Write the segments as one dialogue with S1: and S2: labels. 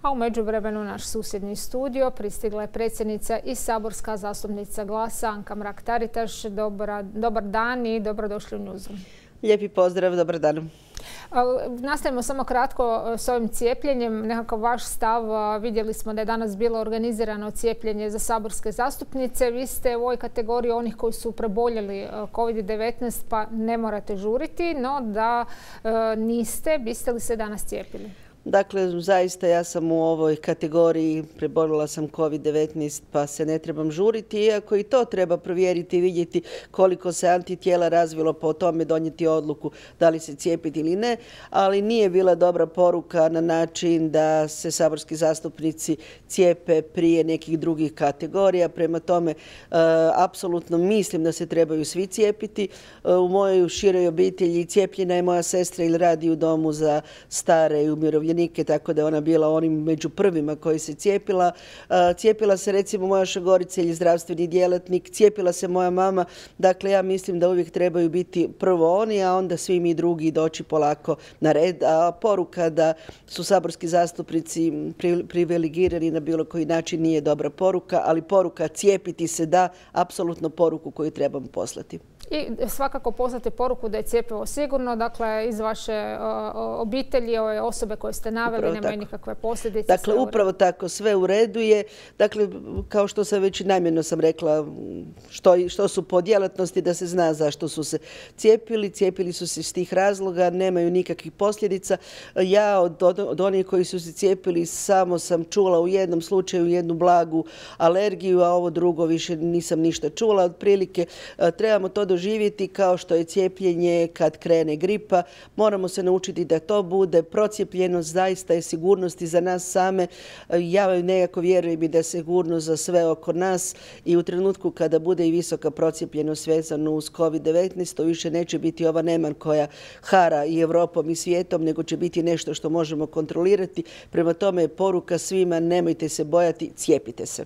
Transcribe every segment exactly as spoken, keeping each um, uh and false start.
S1: A u međuvremenu naš susjedni studio pristigla je predsjednica i saborska zastupnica Glasa Anka Mrak-Taritaš. Dobar dan i dobrodošli u Newsroom.
S2: Lijepi pozdrav, dobar dan.
S1: Nastavimo samo kratko s ovim cijepljenjem. Nekakav vaš stav, vidjeli smo da je danas bilo organizirano cijepljenje za saborske zastupnice. Vi ste u ovoj kategoriji onih koji su preboljeli kovid devetnaest pa ne morate žuriti, no da niste, biste li se danas cijepili?
S2: Dakle, zaista ja sam u ovoj kategoriji, preboljela sam kovid devetnaest pa se ne trebam žuriti, iako i to treba provjeriti i vidjeti koliko se antitijela razvilo, pa o tome donijeti odluku da li se cijepiti ili ne, ali nije bila dobra poruka na način da se saborski zastupnici cijepe prije nekih drugih kategorija. Prema tome, e, apsolutno mislim da se trebaju svi cijepiti. E, u mojoj široj obitelji cijepljena je moja sestra ili radi u domu za stare i umirovljenike, tako da je ona bila onim među prvima koji se cijepila. Cijepila se recimo moja šogorica ili zdravstveni djelatnik, cijepila se moja mama. Dakle, ja mislim da uvijek trebaju biti prvo oni, a onda svi mi drugi doći polako na red. A poruka da su saborski zastupnici privilegirani na bilo koji način nije dobra poruka, ali poruka cijepiti se da, apsolutno poruku koju trebamo poslati.
S1: I svakako poslati poruku da je cjepivo sigurno, dakle iz vaše obitelji, ove osobe koje ste naveli, nemaju nikakve posljedice.
S2: Dakle, upravo tako, sve u redu je. Dakle, kao što sam već namjerno sam rekla, što, što su po djelatnosti, da se zna zašto su se cijepili. Cijepili su se iz tih razloga, nemaju nikakvih posljedica. Ja od, od, od onih koji su se cijepili samo sam čula u jednom slučaju jednu blagu alergiju, a ovo drugo više nisam ništa čula. Otprilike trebamo to doživjeti kao što je cijepljenje kad krene gripa. Moramo se naučiti da to bude procijepljenost, zaista je sigurnost i za nas same. Ja nekako vjerujem i da je sigurnost za sve oko nas i u trenutku kada bude i visoka procijepljenost vezano uz kovid devetnaest, to više neće biti ova neman koja hara i Europom i svijetom, nego će biti nešto što možemo kontrolirati. Prema tome je poruka svima, nemojte se bojati, cijepite se.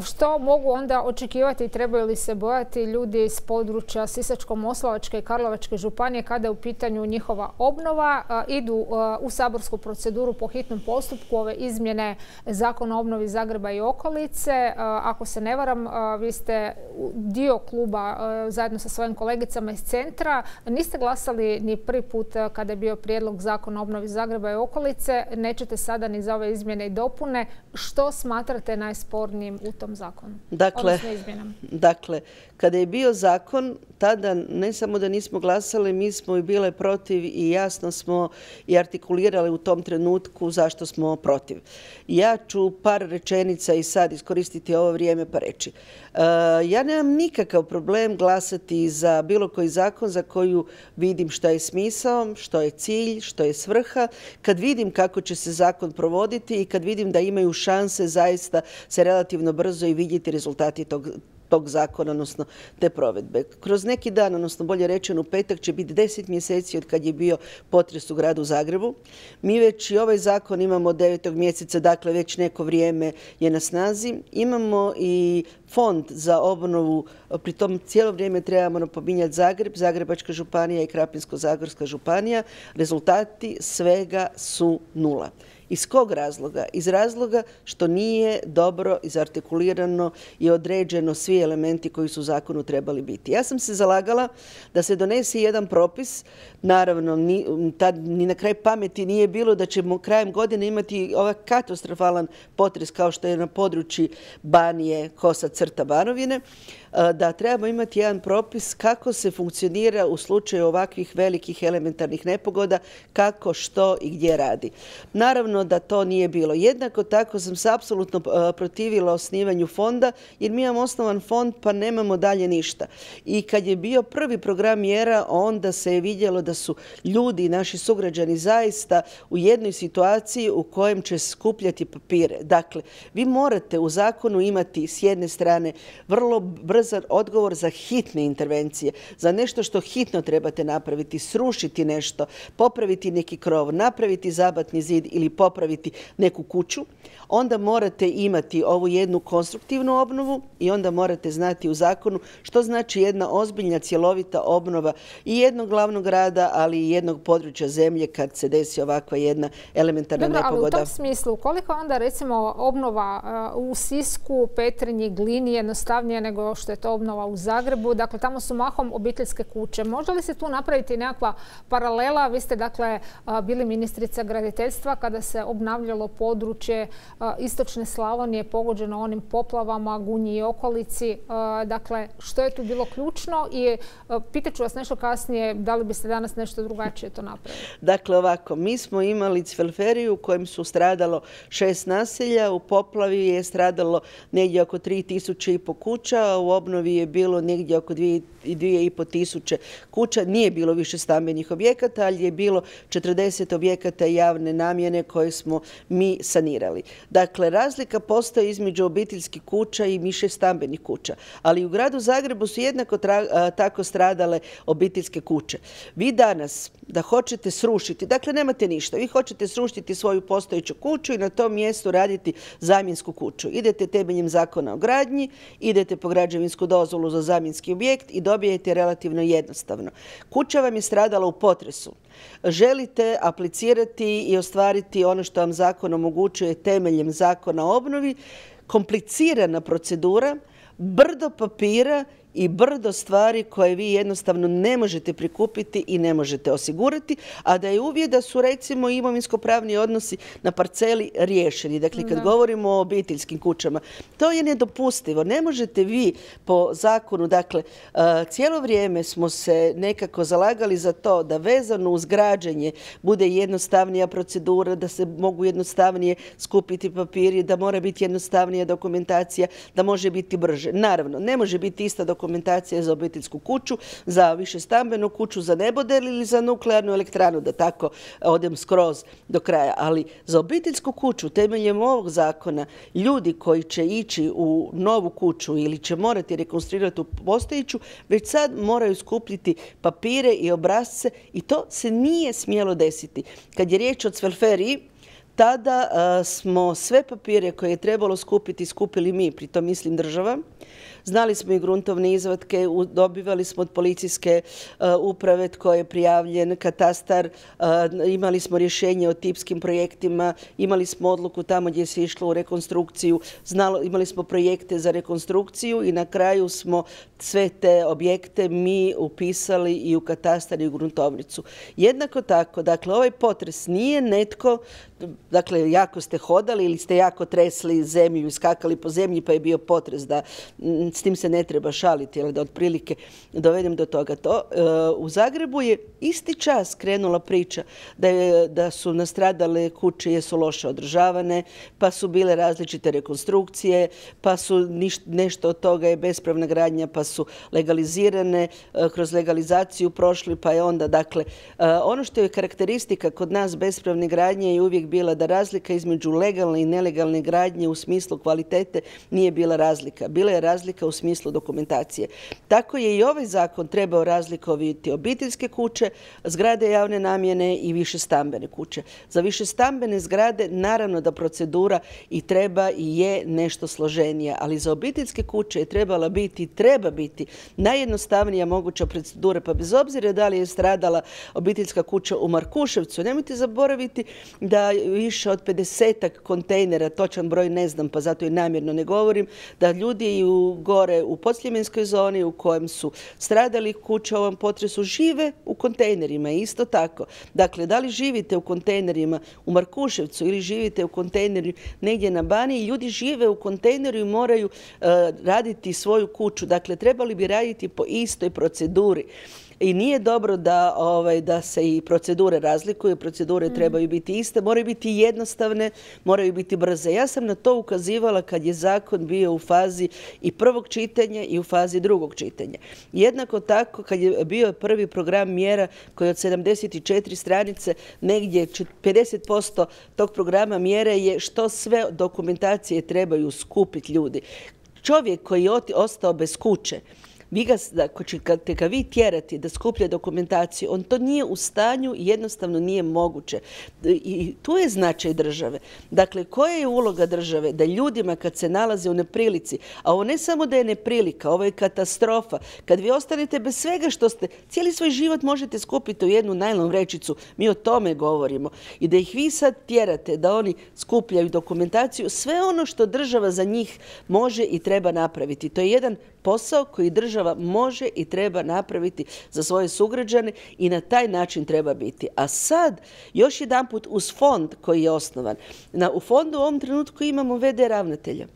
S1: Što mogu onda očekivati i trebaju li se bojati ljudi iz područja Sisačko-moslavačke i Karlovačke županije kada je u pitanju njihova obnova? Idu u saborsku proceduru po hitnom postupku ove izmjene Zakona o obnovi Zagreba i okolice. Ako se ne varam, vi ste dio kluba zajedno sa svojim kolegicama iz centra. Niste glasali ni prvi put kada je bio prijedlog Zakona o obnovi Zagreba i okolice. Nećete sada ni za ove izmjene i dopune. Što smatrate najspornijim u tom zakonu?
S2: Dakle, dakle, kada je bio zakon, tada ne samo da nismo glasali, mi smo i bile protiv i jasno smo i artikulirali u tom trenutku zašto smo protiv. Ja ću par rečenica i sad iskoristiti ovo vrijeme pa reći. Uh, ja nemam nikakav problem glasati za bilo koji zakon za koju vidim što je smisao, što je cilj, što je svrha, kad vidim kako će se zakon provoditi i kad vidim da imaju šanse zaista se relativno brzo i vidjeti rezultati tog tog zakona, odnosno te provedbe. Kroz neki dan, odnosno bolje rečeno u petak, će biti deset mjeseci od kad je bio potres u gradu Zagrebu. Mi već i ovaj zakon imamo od devetog mjeseca, dakle već neko vrijeme je na snazi. Imamo i fond za obnovu, pri tom cijelo vrijeme trebamo napominjati Zagreb, Zagrebačka županija i Krapinsko-zagorska županija. Rezultati svega su nula. Iz kog razloga? Iz razloga što nije dobro izartikulirano i određeno svi elementi koji su u zakonu trebali biti. Ja sam se zalagala da se donese jedan propis, naravno ni, tad ni na kraj pameti nije bilo da ćemo krajem godine imati ovaj katastrofalan potres kao što je na području Banije, kosa crta Banovine, da trebamo imati jedan propis kako se funkcionira u slučaju ovakvih velikih elementarnih nepogoda, kako, što i gdje radi. Naravno da to nije bilo. Jednako tako sam se apsolutno protivila osnivanju fonda, jer mi imamo osnovan fond pa nemamo dalje ništa. I kad je bio prvi program mjera, onda se je vidjelo da su ljudi, naši sugrađani, zaista u jednoj situaciji u kojem će skupljati papire. Dakle, vi morate u zakonu imati s jedne strane vrlo brzan odgovor za hitne intervencije, za nešto što hitno trebate napraviti, srušiti nešto, popraviti neki krov, napraviti zabatni zid ili popraviti popraviti neku kuću, onda morate imati ovu jednu konstruktivnu obnovu i onda morate znati u zakonu što znači jedna ozbiljna cjelovita obnova i jednog glavnog grada, ali i jednog područja zemlje kad se desi ovakva jedna elementarna
S1: Dobro,
S2: nepogoda.
S1: Ali u tom smislu, koliko onda recimo obnova u Sisku, Petrinji, Glini jednostavnije nego što je to obnova u Zagrebu? Dakle, tamo su mahom obiteljske kuće. Može li se tu napraviti nekakva paralela? Vi ste dakle bili ministrica graditeljstva kada se obnavljalo područje istočne Slavonije pogođeno onim poplavama, Gunji i okolici. Dakle, što je tu bilo ključno i pitaću vas nešto kasnije da li biste danas nešto drugačije to napravili.
S2: Dakle, ovako, mi smo imali Cvelferiju u kojem su stradalo šest naselja, u poplavi je stradalo negdje oko tri tisuće i po kuća, a u obnovi je bilo negdje oko dvije i po tisuće kuća. Nije bilo više stambenih objekata, ali je bilo četrdeset objekata javne namjene koje smo mi sanirali. Dakle, razlika postoji između obiteljskih kuća i više stambenih kuća. Ali u gradu Zagrebu su jednako tako stradale obiteljske kuće. Vi danas da hoćete srušiti, dakle nemate ništa, vi hoćete srušiti svoju postojeću kuću i na tom mjestu raditi zamjensku kuću. Idete temeljem zakona o gradnji, idete po građevinsku dozvolu za zamjenski objekt i dobijete relativno jednostavno. Kuća vam je stradala u potresu. Želite aplicirati i ostvariti ono što vam zakon omogućuje temeljem zakona o obnovi, komplicirana procedura, brdo papira i brdo stvari koje vi jednostavno ne možete prikupiti i ne možete osigurati, a da je uvjet da su recimo imovinsko-pravni odnosi na parceli riješeni. Dakle, kad da. govorimo o obiteljskim kućama, to je nedopustivo. Ne možete vi po zakonu, dakle, cijelo vrijeme smo se nekako zalagali za to da vezano uz građenje bude jednostavnija procedura, da se mogu jednostavnije skupiti papiri, da mora biti jednostavnija dokumentacija, da može biti brže. Naravno, ne može biti ista dokumentacija dokumentacija za obiteljsku kuću, za višestambenu kuću, za nebodel ili za nuklearnu elektranu, da tako odem skroz do kraja. Ali za obiteljsku kuću temeljem ovog zakona ljudi koji će ići u novu kuću ili će morati rekonstruirati u postojeću, već sad moraju skupljiti papire i obrasce i to se nije smjelo desiti. Kad je riječ o Cvelferiji, tada uh, smo sve papire koje je trebalo skupiti, skupili mi, pritom mislim država. Znali smo i gruntovne izvatke, dobivali smo od policijske uh, uprave tko je prijavljen, katastar, uh, imali smo rješenje o tipskim projektima, imali smo odluku tamo gdje se išlo u rekonstrukciju, znalo, imali smo projekte za rekonstrukciju i na kraju smo sve te objekte mi upisali i u katastar i u gruntovnicu. Jednako tako, dakle, ovaj potres nije netko, dakle, jako ste hodali ili ste jako tresli zemlju i skakali po zemlji pa je bio potres, da s tim se ne treba šaliti, ali da otprilike dovedem do toga. To, uh, u Zagrebu je isti čas krenula priča da, je, da su nastradale kuće jesu loše održavane, pa su bile različite rekonstrukcije, pa su niš, nešto od toga je bespravna gradnja, pa su legalizirane, uh, kroz legalizaciju prošli, pa je onda, dakle, uh, ono što je karakteristika kod nas bespravne gradnje je uvijek bila da razlika između legalne i nelegalne gradnje u smislu kvalitete nije bila razlika. Bila je razlika u smislu dokumentacije. Tako je i ovaj zakon trebao razlikovati obiteljske kuće, zgrade javne namjene i višestambene kuće. Za višestambene zgrade naravno da procedura i treba i je nešto složenija, ali za obiteljske kuće je trebala biti, treba biti najjednostavnija moguća procedura, pa bez obzira da li je stradala obiteljska kuća u Markuševcu, nemojte zaboraviti da više od pedesetak kontejnera, točan broj ne znam, pa zato i namjerno ne govorim, da ljudi u gore u podsljemenskoj zoni u kojem su stradali kuće u ovom potresu žive u kontejnerima. Isto tako. Dakle, da li živite u kontejnerima u Markuševcu ili živite u kontejneru negdje na Baniji, ljudi žive u kontejneru i moraju uh, raditi svoju kuću. Dakle, trebali bi raditi po istoj proceduri. I nije dobro da, ovaj, da se i procedure razlikuju, procedure mm. trebaju biti iste, moraju biti jednostavne, moraju biti brze. Ja sam na to ukazivala kad je zakon bio u fazi i prvog čitanja i u fazi drugog čitanja. Jednako tako kad je bio prvi program mjera koji od sedamdeset četiri stranice, negdje pedeset posto tog programa mjere je što sve dokumentacije trebaju skupiti ljudi. Čovjek koji je ostao bez kuće, vi ga, ako ćete ga vi tjerati da skuplja dokumentaciju, on to nije u stanju i jednostavno nije moguće. I tu je značaj države. Dakle, koja je uloga države? Da ljudima kad se nalaze u neprilici, a ovo ne samo da je neprilika, ovo je katastrofa. Kad vi ostanete bez svega što ste, cijeli svoj život možete skupiti u jednu najlon vrećicu, mi o tome govorimo. I da ih vi sad tjerate da oni skupljaju dokumentaciju, sve ono što država za njih može i treba napraviti. To je jedan posao koji država može i treba napraviti za svoje sugrađane i na taj način treba biti. A sad, još jedanput uz fond koji je osnovan. Na, u fondu u ovom trenutku imamo ve de ravnatelja.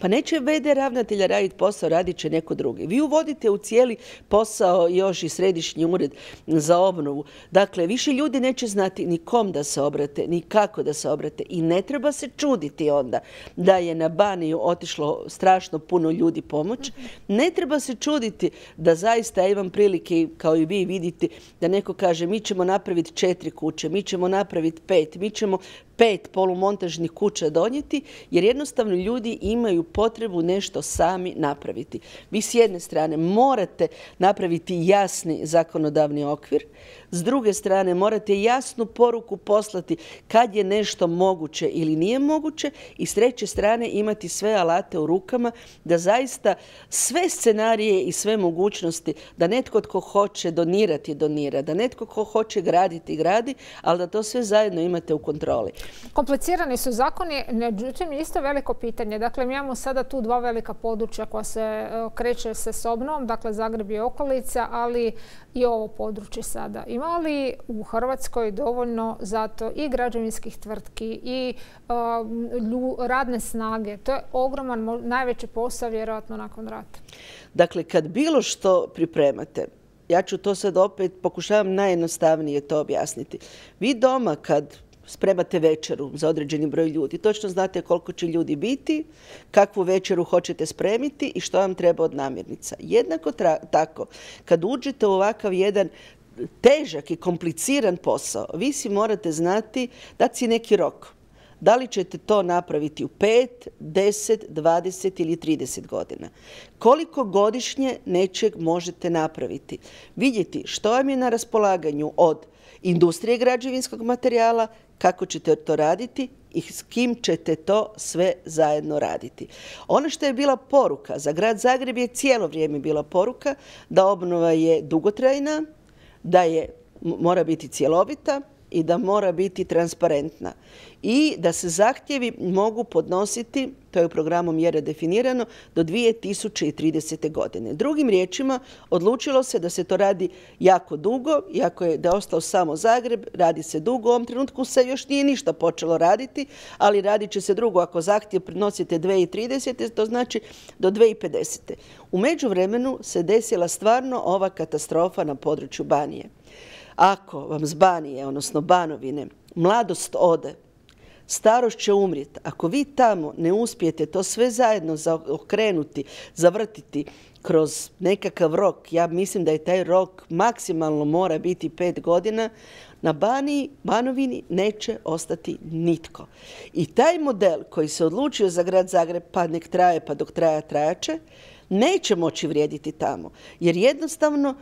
S2: Pa neće ve de ravnatelja raditi posao, radit će neko drugi. Vi uvodite u cijeli posao još i središnji ured za obnovu. Dakle, više ljudi neće znati ni kom da se obrate, ni kako da se obrate. I ne treba se čuditi onda da je na Baniju otišlo strašno puno ljudi pomoć. Ne treba se čuditi da zaista, ja imam prilike, kao i vi vidite, da neko kaže mi ćemo napraviti četiri kuće, mi ćemo napraviti pet, mi ćemo pet polumontažnih kuća donijeti, jer jednostavno ljudi imaju potrebu nešto sami napraviti. Vi s jedne strane morate napraviti jasni zakonodavni okvir, s druge strane morate jasnu poruku poslati kad je nešto moguće ili nije moguće i s treće strane imati sve alate u rukama da zaista sve scenarije i sve mogućnosti, da netko tko hoće donirati, donira, da netko tko hoće graditi, gradi, ali da to sve zajedno imate u kontroli.
S1: Komplicirani su zakoni, međutim isto veliko pitanje. Dakle, mi imamo sada tu dva velika područja koja se kreće se s obnovom, dakle Zagreb i okolica, ali i ovo područje sada. Ima li u Hrvatskoj dovoljno zato i građevinskih tvrtki i uh, radne snage? To je ogroman, najveći posao vjerojatno nakon rata.
S2: Dakle, kad bilo što pripremate, ja ću to sad opet, pokušavam najjednostavnije to objasniti. Vi doma kad spremate večeru za određeni broj ljudi, točno znate koliko će ljudi biti, kakvu večeru hoćete spremiti i što vam treba od namirnica. Jednako tako, kad uđete u ovakav jedan težak i kompliciran posao, vi si morate znati, dati si neki rok. Da li ćete to napraviti u pet, deset, dvadeset ili trideset godina? Koliko godišnje nečeg možete napraviti? Vidjeti što vam je na raspolaganju od industrije građevinskog materijala, kako ćete to raditi i s kim ćete to sve zajedno raditi. Ono što je bila poruka za grad Zagreb je cijelo vrijeme bila poruka da obnova je dugotrajna, da je, mora biti cjelovita i da mora biti transparentna. I da se zahtjevi mogu podnositi, to je u programu mjere definirano, do dvije tisuće tridesete. godine. Drugim riječima, odlučilo se da se to radi jako dugo, iako je da je ostao samo Zagreb, radi se dugo. U ovom trenutku se još nije ništa počelo raditi, ali radit će se drugo. Ako zahtjev prinosite dvije tisuće tridesete. to znači do dvije tisuće pedesete. U međuvremenu se desila stvarno ova katastrofa na području Banije. Ako vam s Banije, odnosno Banovine, mladost ode, starost će umrijeti. Ako vi tamo ne uspijete to sve zajedno okrenuti, zavrtiti kroz nekakav rok, ja mislim da je taj rok maksimalno mora biti pet godina, na Baniji, Banovini neće ostati nitko. I taj model koji se odlučio za grad Zagreb, pa nek traje, pa dok traja, trajaće, neće moći vrijediti tamo. Jer jednostavno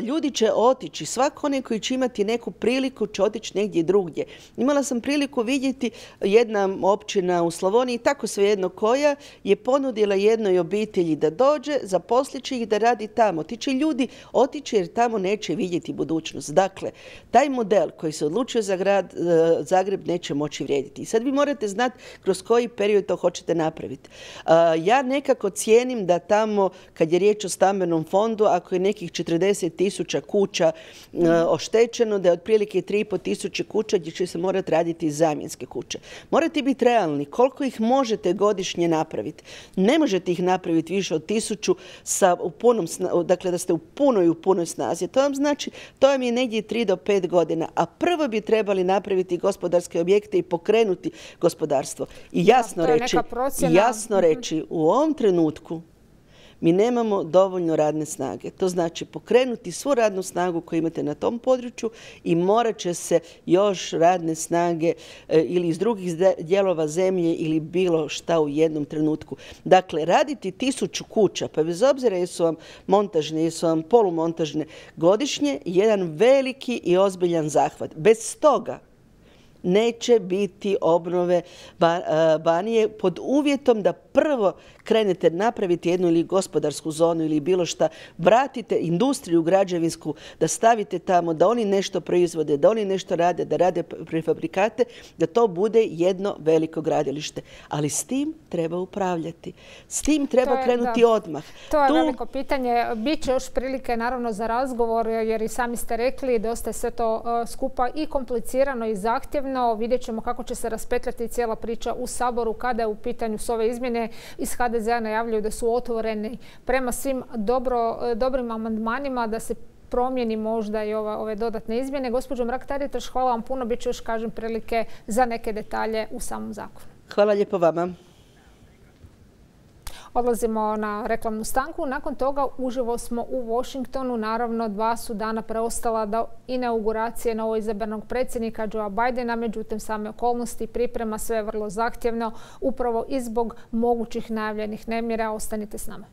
S2: ljudi će otići, svako onaj koji će imati neku priliku će otići negdje drugdje. Imala sam priliku vidjeti jedna općina u Slavoniji, tako svejedno koja, je ponudila jednoj obitelji da dođe, zaposlit će ih da radi tamo. Ti će ljudi otići jer tamo neće vidjeti budućnost. Dakle, taj model koji se odlučio za grad Zagreb neće moći vrijediti. I sad vi morate znati kroz koji period to hoćete napraviti. Ja nekako cijenim da tamo, kad je riječ o stambenom fondu, ako je nekih četrdeset tisuća kuća uh, oštećeno, da je otprilike tri i pol tisuće kuća gdje će se morati raditi zamjenske kuće. Morate biti realni. Koliko ih možete godišnje napraviti? Ne možete ih napraviti više od tisuću sa u punom, dakle da ste u punoj u punoj snazi. To vam znači, to vam je negdje tri do pet godina. A prvo bi trebali napraviti gospodarske objekte i pokrenuti gospodarstvo. I jasno reći, i jasno reći, u ovom trenutku mi nemamo dovoljno radne snage. To znači pokrenuti svu radnu snagu koju imate na tom području i morat će se još radne snage ili iz drugih dijelova zemlje ili bilo šta u jednom trenutku. Dakle, raditi tisuću kuća, pa bez obzira jesu vam montažne, jesu vam polumontažne godišnje, jedan veliki i ozbiljan zahvat. Bez toga neće biti obnove Banije pod uvjetom da prvo krenete napraviti jednu ili gospodarsku zonu ili bilo šta, vratite industriju građevinsku, da stavite tamo, da oni nešto proizvode, da oni nešto rade, da rade prefabrikate, da to bude jedno veliko gradilište. Ali s tim treba upravljati. S tim treba je, krenuti
S1: da.
S2: odmah.
S1: To je tu... veliko pitanje. Biće još prilike naravno za razgovor, jer i sami ste rekli, dosta je sve to uh, skupa i komplicirano i zahtjevno. Vidjet ćemo kako će se raspetljati cijela priča u Saboru kada je u pitanju s ove izmjene. Iz ha de zea najavljuju da su otvoreni prema svim dobro, dobrim amandmanima, da se promijeni možda i ova, ove dodatne izmjene. Gospođo Mrak-Taritaš, hvala vam puno. Biće još, kažem, prilike za neke detalje u samom zakonu.
S2: Hvala lijepo vama.
S1: Odlazimo na reklamnu stanku. Nakon toga uživo smo u Washingtonu. Naravno, dva su dana preostala do inauguracije novoizabranog predsjednika Joea Bidena. Međutim, same okolnosti priprema sve vrlo zahtjevno, upravo i zbog mogućih najavljenih nemira. Ostanite s nama.